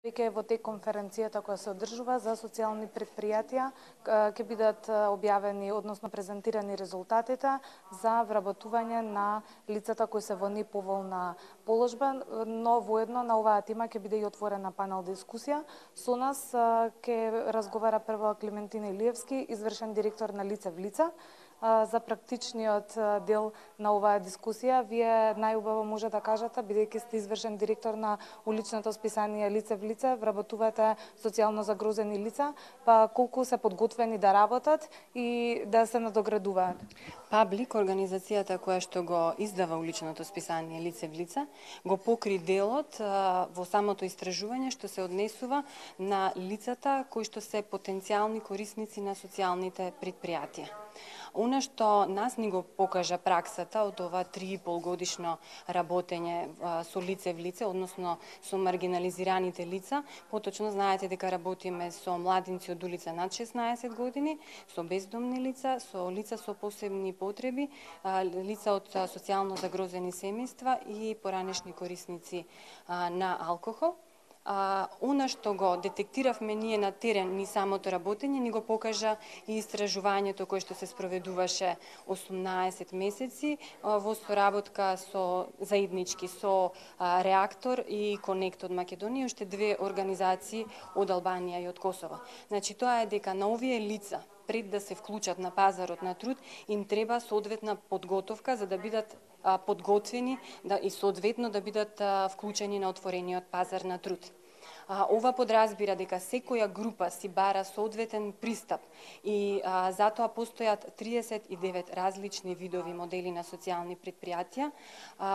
Веќе во тек конференцијата која се одржува за социјални предпријатија ќе бидат објавени, односно презентирани резултатите за вработување на лицата кои се во неповолна положба, но воедно на оваа тема ќе биде и отворена панел дискусија. Со нас ќе разговара прво Клементина Илиевски, извршен директор на Лице в лице. За практичниот дел на оваа дискусија, вие најубаво може да кажете, бидејќи сте извршен директор на уличното списание Лице в лице, вработувате социјално загрозени лица, па колку се подготвени да работат и да се надоградуваат? Паблик, организацијата која што го издава уличното списание Лице в лице, го покри делот во самото истражување што се однесува на лицата кои што се потенцијални корисници на социјалните предпријатија. Она што нас ни го покажа праксата од ова 3,5 годишно работење со лице в лице, односно со маргинализираните лица, поточно знаете дека работиме со младинци од улица над 16 години, со бездомни лица, со лица со посебни потреби, лица од социјално загрозени семејства и поранешни корисници на алкохол. Она што го детектиравме ние на терен, ни самото работење, ни го покажа и истражувањето кое што се спроведуваше 18 месеци во соработка заеднички со Реактор и Конект од Македонија, уште две организации од Албанија и од Косово. Значи, тоа е дека на овие лица, пред да се вклучат на пазарот на труд, им треба соодветна подготовка за да бидат подготвени и соодветно да бидат вклучени на отворениот пазар на труд. Ова подразбира дека секоја група си бара соодветен пристап и затоа постојат 39 различни видови модели на социјални предпријатија,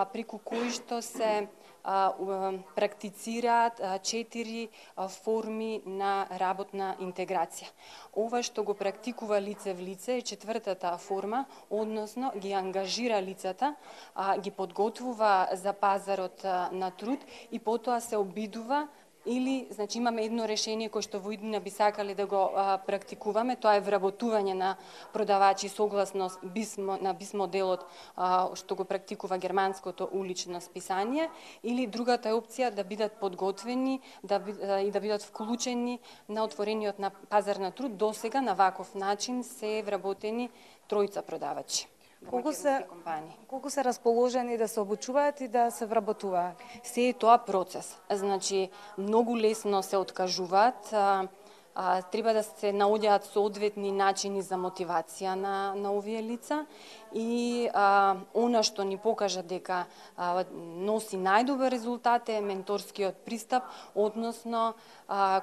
преку кои што се практицираат 4 форми на работна интеграција. Ова што го практикува Лице в лице е 4-та форма, односно ги ангажира лицата, ги подготвува за пазарот на труд и потоа се обидува или, значи, имаме едно решение кое што во иднина би сакале да го практикуваме, тоа е вработување на продавачи согласно БИС моделот што го практикува германското улично списание, или другата е опција да бидат подготвени и да бидат вклучени на отворениот на пазар на труд. Досега на ваков начин се вработени 3 продавачи. Колку се расположени да се обучуваат и да се вработуваат? Се е тоа процес. Значи, многу лесно се откажуваат, треба да се наоѓаат соодветни начини за мотивација на овие лица и она што ни покажа дека носи најдобар резултат е менторскиот пристап, односно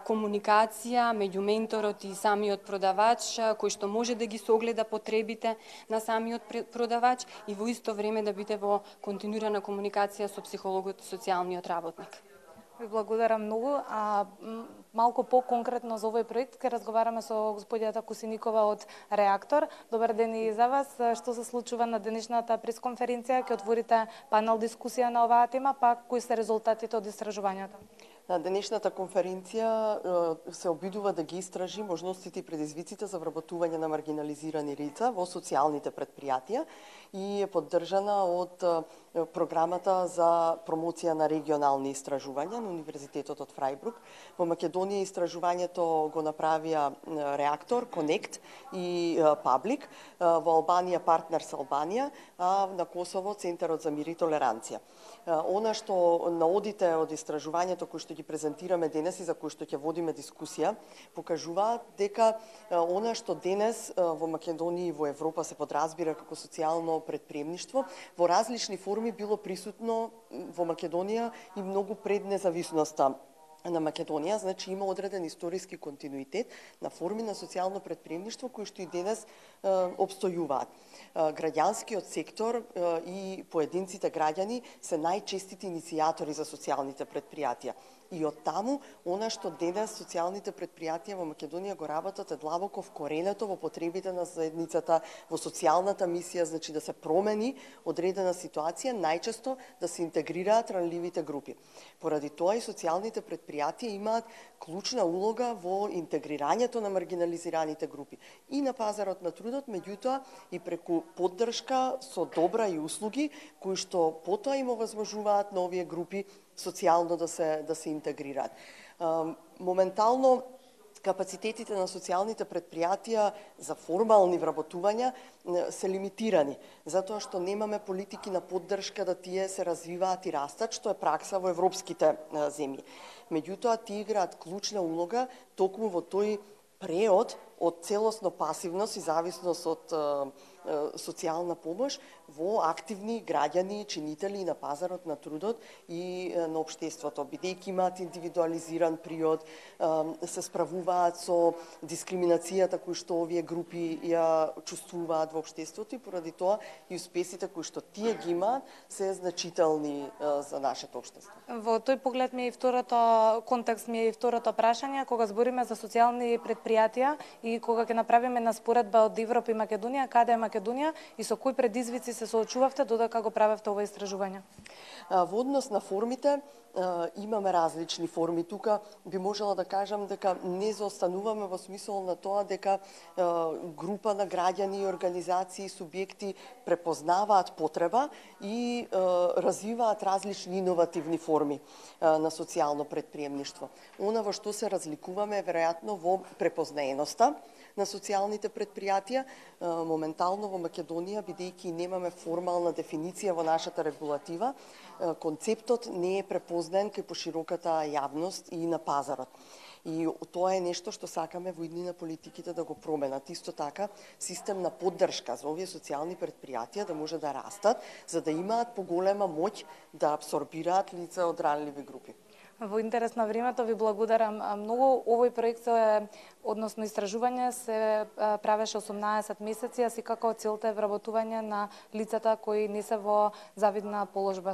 комуникација меѓу менторот и самиот продавач, кој што може да ги согледа потребите на самиот продавач и во исто време да биде во континуирана комуникација со психологот и социјалниот работник. Ви благодарам многу. Малку по-конкретно за овој проект ќе разговараме со господјата Косиникова од Реактор. Добар ден и за вас. Што се случува на денешната пресконференција? Ќе отворите панел дискусија на оваа тема, па кои се резултатите од истражувањето? На денешната конференција се обидува да ги истражи можностите и предизвиците за вработување на маргинализирани лица во социјалните предпријатија и е поддржана од програмата за промоција на регионални истражувања на Универзитетот од Фрајбрук. Во Македонија истражувањето го направија Реактор, Конект и Паблик, во Албанија Партнерс Албанија, а на Косово Центарот за мир и толеранција. Она што наодите од истражувањето кои што ги презентираме денес и за кои што ќе водиме дискусија, покажуваат дека она што денес во Македонија и во Европа се подразбира како социјално предприемништво, во различни форми било присутно во Македонија и многу пред независноста на Македонија, значи има одреден историски континуитет на форми на социјално предприемништво кои што и денес обстојуваат. Граѓанскиот сектор и поединците граѓани се најчестите иницијатори за социјалните предпријатија. И од таму, она што денес социјалните предпријатија во Македонија го работат е длабоко вкоренето во потребите на заедницата, во социјалната мисија, значи да се промени одредена ситуација, најчесто да се интегрираат ранливите групи. Поради тоа и социјалните предпријатија имаат клучна улога во интегрирањето на маргинализираните групи и на пазарот на трудот, меѓутоа и преку поддршка со добра и услуги кои што потоа им овозможуваат на овие групи социјално да се интегрираат. Моментално капацитетите на социјалните предпријатија за формални вработувања се лимитирани, затоа што немаме политики на поддршка да тие се развиваат и растат, што е пракса во европските земји. Меѓутоа, тие играат клучна улога токму во тој преод од целосно пасивност и зависност од социјална помош во активни граѓани, чинители на пазарот на трудот и на општеството, бидејќи имаат индивидуализиран приод, се справуваат со дискриминацијата кои што овие групи ја чувствуваат во општеството и поради тоа и успесите кои што тие ги имаат се значителни за нашето општество. Во тој поглед ми е и второто контекст ми е и второто прашање, кога збориме за социјални предпријатија и кога ќе направиме на споредба од Европа и Македонија, каде е Македонија и со кои предизвици се соочувавте додека го правевте ова истражување? Во однос на формите, имаме различни форми. Тука би можела да кажам дека не заостануваме во смисол на тоа дека група на граѓани, организации, субјекти препознаваат потреба и развиваат различни иновативни форми на социјално претприемништво. Она во што се разликуваме е веројатно во препознаеноста на социјалните предпријатија. Моментално во Македонија, бидејќи немаме формална дефиниција во нашата регулатива, концептот не е препознаен кај пошироката јавност и на пазарот. И тоа е нешто што сакаме во иднина политиките да го променат. Исто така, систем на поддршка за овие социјални предпријатија да може да растат, за да имаат поголема моќ да апсорбираат лица од ранливи групи. Во интерес на времето ви благодарам многу. Овој проект односно истражување се правеше 18 месеци, а секако целта е вработување на лицата кои не се во завидна положба.